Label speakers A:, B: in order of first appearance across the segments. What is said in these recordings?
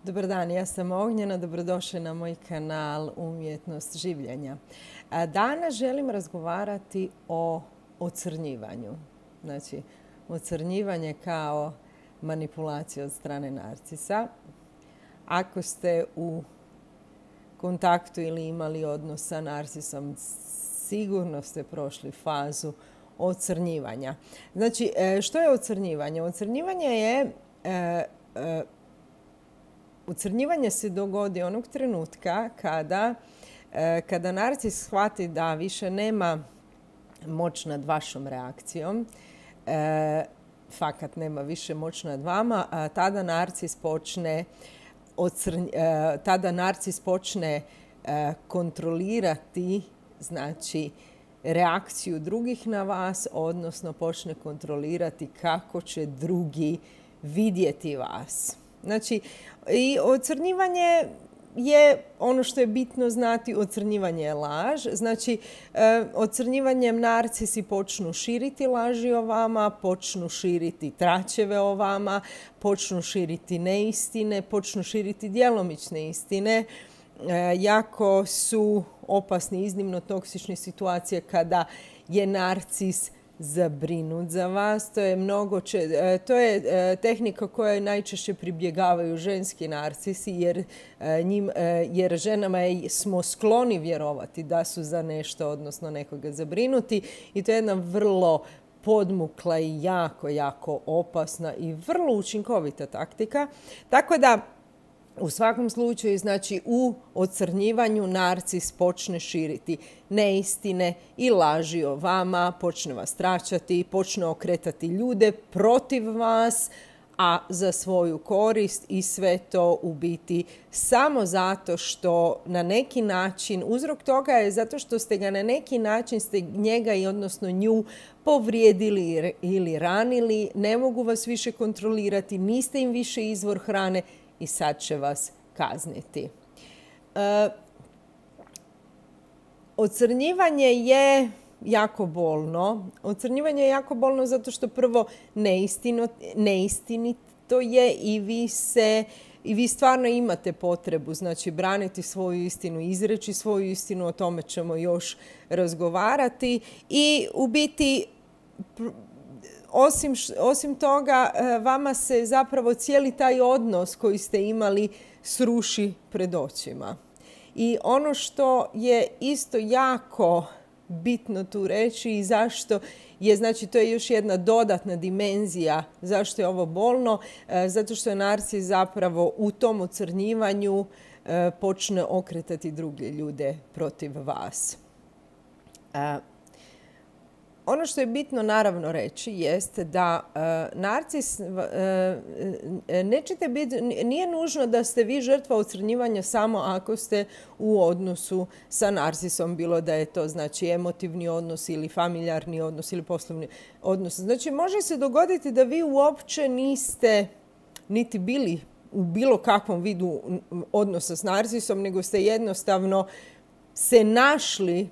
A: Dobar dan, ja sam Ognjena, dobrodošli na moj kanal Umjetnost življenja. Danas želim razgovarati o ocrnjivanju. Znači, ocrnjivanje kao manipulacija od strane narcisa. Ako ste u kontaktu ili imali odnos sa narcisom, sigurno ste prošli fazu ocrnjivanja. Znači, što je ocrnjivanje? Ocrnjivanje se dogodi onog trenutka kada narcis shvati da više nema moć nad vašom reakcijom, fakat nema više moć nad vama, tada narcis počne kontrolirati, znači, reakciju drugih na vas, odnosno počne kontrolirati kako će drugi vidjeti vas. Znači, i ocrnjivanje je ono što je bitno znati, ocrnjivanje je laž. Znači, ocrnjivanjem narcisi počnu širiti laži o vama, počnu širiti tračeve o vama, počnu širiti neistine, počnu širiti djelomične istine. Jako su opasni, iznimno toksične situacije kada je narcis zabrinut za vas. To je tehnika kojoj najčešće pribjegavaju ženski narcisi jer ženama smo skloni vjerovati da su za nešto, odnosno nekoga zabrinuti, i to je jedna vrlo podmukla i jako opasna i vrlo učinkovita taktika. Tako da u svakom slučaju, znači, u ocrnjivanju narcis počne širiti neistine i laži o vama, počne vas tračati, počne okretati ljude protiv vas, a za svoju korist, i sve to u biti samo zato što na neki način, uzrok toga je zato što ste ga na neki način, ste njega i odnosno nju povrijedili ili ranili, ne mogu vas više kontrolirati, niste im više izvor hrane i sad će vas kazniti. Ocrnjivanje je jako bolno. Ocrnjivanje je jako bolno zato što prvo neistinito je i vi stvarno imate potrebu, znači, braniti svoju istinu, izreći svoju istinu, o tome ćemo još razgovarati. I u biti, osim toga, vama se zapravo cijeli taj odnos koji ste imali sruši pred očima. I ono što je isto jako bitno tu reći i zašto je, znači, to je još jedna dodatna dimenzija zašto je ovo bolno, zato što je narcis zapravo u tom ocrnjivanju počne okretati druge ljude protiv vas. Ono što je bitno naravno reći jeste da narcis nije nužno da ste vi žrtva ocrnjivanja samo ako ste u odnosu sa narcisom, bilo da je to, znači, emotivni odnos ili familijarni odnos ili poslovni odnos. Znači, može se dogoditi da vi uopće niste niti bili u bilo kakvom vidu odnosa s narcisom, nego ste jednostavno se našli,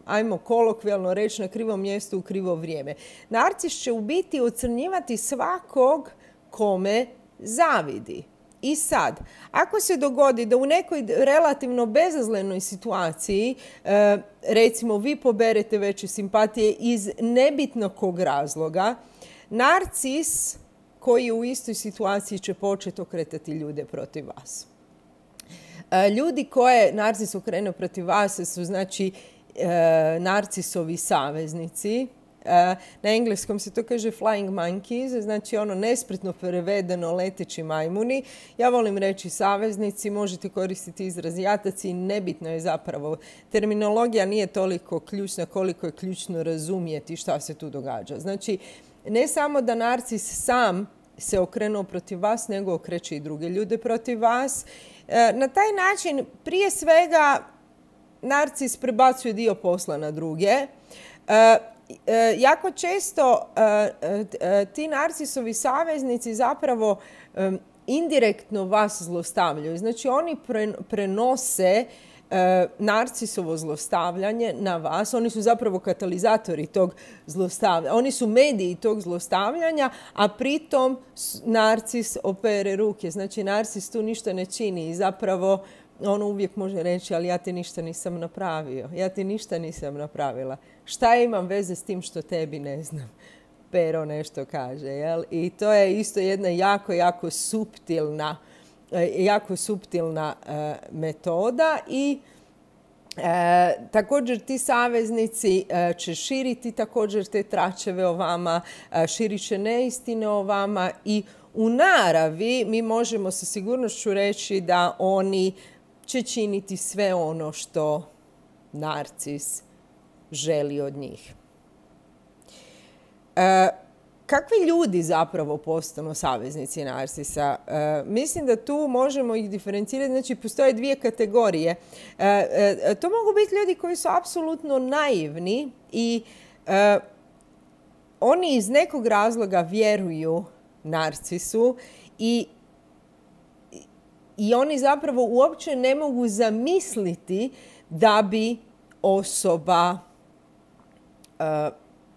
A: ajmo kolokvijalno reći, na krivom mjestu u krivo vrijeme. Narcis će u biti ocrnjivati svakog kome zavidi. I sad, ako se dogodi da u nekoj relativno bezazlenoj situaciji, recimo, vi poberete veće simpatije iz nebitno kog razloga, narcis koji je u istoj situaciji će početi okretati ljude protiv vas. Ljudi koje narcis okrene protiv vas su, znači, narcisovi saveznici. Na engleskom se to kaže flying monkeys, znači ono nespretno prevedeno leteći majmuni. Ja volim reći saveznici, možete koristiti izraz jataci, nebitno je zapravo. Terminologija nije toliko ključna koliko je ključno razumjeti šta se tu događa. Znači, ne samo da narcis sam se okrenuo protiv vas, nego okreće i druge ljude protiv vas. Na taj način, prije svega, narcis prebacuje dio posla na druge. Jako često ti narcisovi saveznici zapravo indirektno vas zlostavljaju. Znači, oni prenose narcisovo zlostavljanje na vas. Oni su zapravo katalizatori tog zlostavljanja. Oni su mediji tog zlostavljanja, a pritom narcis opere ruke. Znači, narcis tu ništa ne čini i zapravo on uvijek može reći, ali ja ti ništa nisam napravio. Ja ti ništa nisam napravila. Šta imam veze s tim što tebi ne znam? Pero nešto kaže, jel? I to je isto jedna jako suptilna metoda i također ti saveznici će širiti također te tračeve o vama, širit će neistine o vama i u naravi mi možemo sa sigurnošću reći da oni će činiti sve ono što narcis želi od njih. Kakvi ljudi zapravo postanu saveznici narcisa? Mislim da tu možemo ih diferencirati. Znači, postoje dvije kategorije. To mogu biti ljudi koji su apsolutno naivni i oni iz nekog razloga vjeruju narcisu i oni zapravo uopće ne mogu zamisliti da bi osoba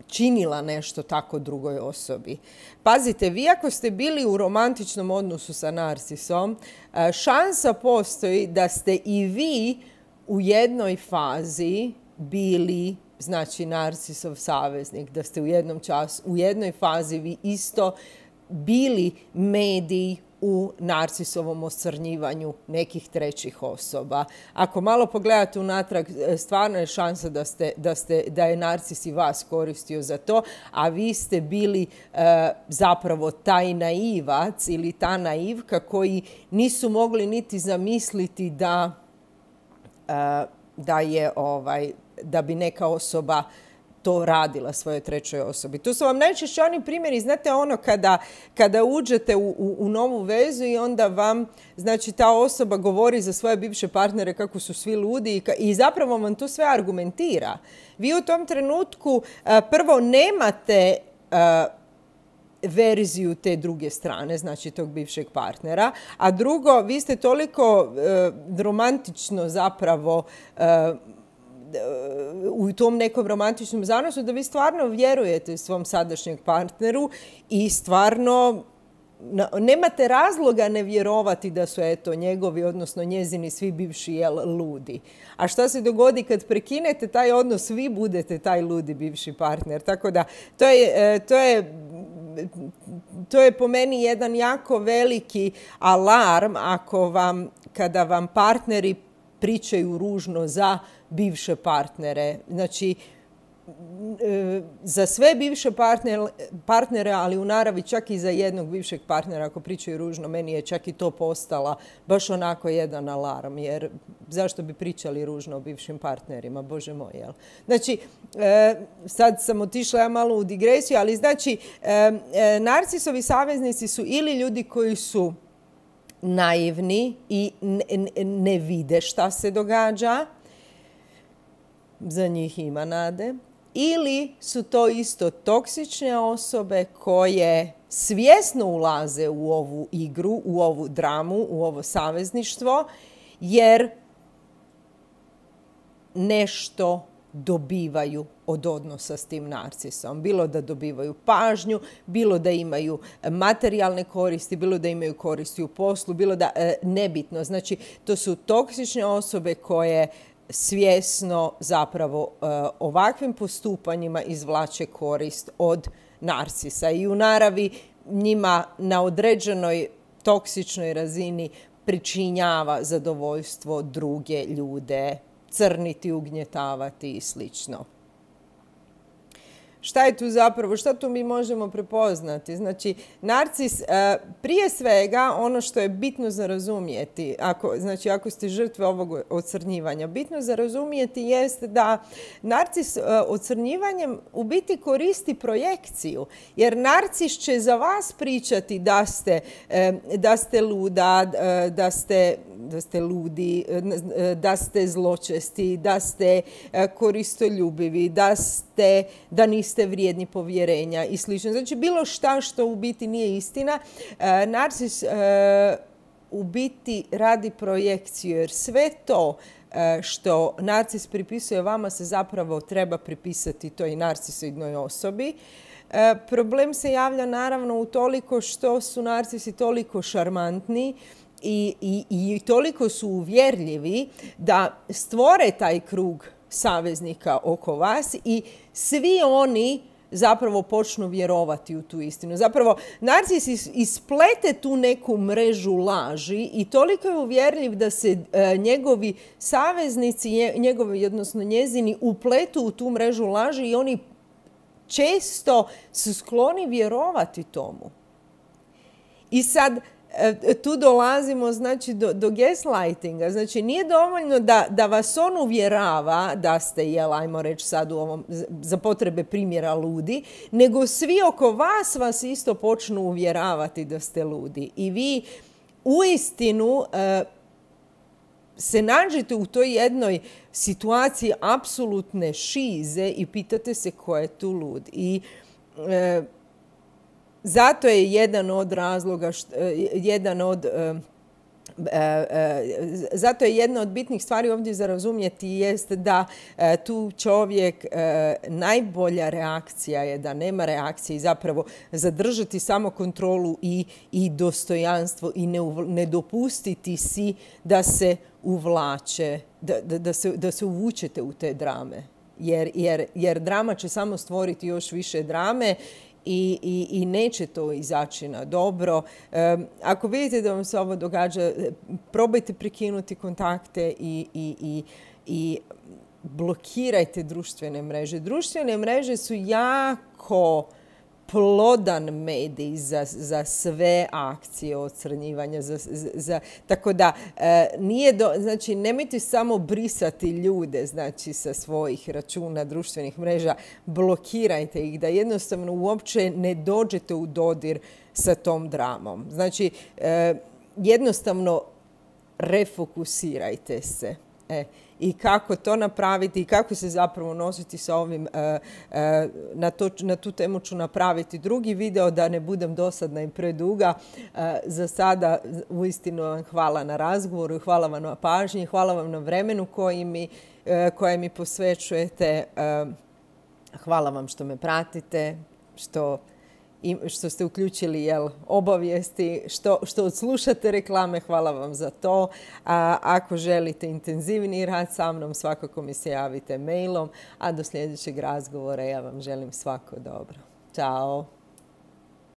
A: činila nešto tako drugoj osobi. Pazite, vi ako ste bili u romantičnom odnosu sa narcisom, šansa postoji da ste i vi u jednoj fazi bili, znači, narcisov saveznik, da ste u jednoj fazi vi isto bili mediji u narcisovom oscrnjivanju nekih trećih osoba. Ako malo pogledate unatrag, stvarno je šansa da je narcis i vas koristio za to, a vi ste bili zapravo taj naivac ili ta naivka koji nisu mogli niti zamisliti da bi neka osoba to radila svojoj trećoj osobi. Tu su vam najčešće oni primjeri, znate ono kada uđete u novu vezu i onda vam, znači, ta osoba govori za svoje bivše partnere kako su svi ludi i zapravo vam to sve argumentira. Vi u tom trenutku prvo nemate verziju te druge strane, znači tog bivšeg partnera, a drugo, vi ste toliko romantično zapravo u tom nekom romantičnom zanosu da vi stvarno vjerujete svom sadašnjem partneru i stvarno nemate razloga ne vjerovati da su njegovi, odnosno njezini svi bivši ludi. A šta se dogodi kad prekinete taj odnos, vi budete taj ludi bivši partner. Tako da to je po meni jedan jako veliki alarm kada vam partneri pričaju ružno za bivše partnere. Znači, za sve bivše partnere, ali u naravi čak i za jednog bivšeg partnera ako pričaju ružno, meni je čak i to postala baš onako jedan alarm, jer zašto bi pričali ružno o bivšim partnerima, Bože moj, jel? Znači, sad sam otišla ja malo u digresiju, ali znači, narcisovi saveznici su ili ljudi koji su naivni i ne vide šta se događa, za njih ima nade, ili su to isto toksične osobe koje svjesno ulaze u ovu igru, u ovu dramu, u ovo savezništvo, jer nešto dobivaju od odnosa s tim narcisom. Bilo da dobivaju pažnju, bilo da imaju materijalne koristi, bilo da imaju koristi u poslu, bilo da nebitno. Znači, to su toksične osobe koje svjesno zapravo ovakvim postupanjima izvlače korist od narcisa. I u naravi njima na određenoj toksičnoj razini pričinjava zadovoljstvo druge ljude, crniti, ugnjetavati i slično. Šta je tu zapravo, šta tu mi možemo prepoznati? Znači, narcis, prije svega, ono što je bitno za razumijeti, ako ste žrtve ovog ocrnjivanja, bitno za razumijeti jest da narcis ocrnjivanjem u biti koristi projekciju. Jer narcis će za vas pričati da ste luda, da ste ludi, da ste zločesti, da ste koristoljubivi, da niste vrijedni povjerenja i slično. Znači, bilo šta što u biti nije istina. Narcis u biti radi projekciju, jer sve to što narcis pripisuje vama se zapravo treba pripisati toj narcisoidnoj osobi. Problem se javlja naravno utoliko što su narcisi toliko šarmantni i toliko su uvjerljivi da stvore taj krug saveznika oko vas i svi oni zapravo počnu vjerovati u tu istinu. Zapravo, narcis isplete tu neku mrežu laži i toliko je uvjerljiv da se njegovi saveznici, odnosno njezini, upletu u tu mrežu laži i oni često su skloni vjerovati tomu. I sad, tu dolazimo znači, do gaslightinga. Znači, nije dovoljno da vas on uvjerava da ste, ajmo reći sad za potrebe primjera ludi, nego svi oko vas isto počnu uvjeravati da ste ludi. I vi uistinu se nađete u toj jednoj situaciji apsolutne šize i pitate se ko je tu lud. I zato je jedan od razloga, zato je jedna od bitnih stvari ovdje za razumjeti jest da tu čovjek, najbolja reakcija je da nema reakcije i zapravo zadržati samo kontrolu i dostojanstvo i ne dopustiti si da se uvlače, da se uvučete u te drame. Jer drama će samo stvoriti još više drame i neće to izaći na dobro. Ako vidite da vam se ovo događa, probajte prekinuti kontakte i blokirajte društvene mreže. Društvene mreže su jako plodan medij za sve akcije ocrnjivanja. Tako da znači, nemojte samo brisati ljude znači, sa svojih računa društvenih mreža, blokirajte ih da jednostavno uopće ne dođete u dodir sa tom dramom. Znači, jednostavno refokusirajte se. I kako to napraviti i kako se zapravo nositi sa ovim, na tu temu ću napraviti drugi video da ne budem dosadna i preduga. Za sada uistinu vam hvala na razgovoru, hvala vam na pažnji, hvala vam na vremenu koje mi posvećujete. Hvala vam što me pratite, što ste uključili obavijesti, što odslušate reklame, hvala vam za to. Ako želite intenzivniji rad sa mnom, svakako mi se javite mailom, a do sljedećeg razgovora ja vam želim svako dobro. Ćao!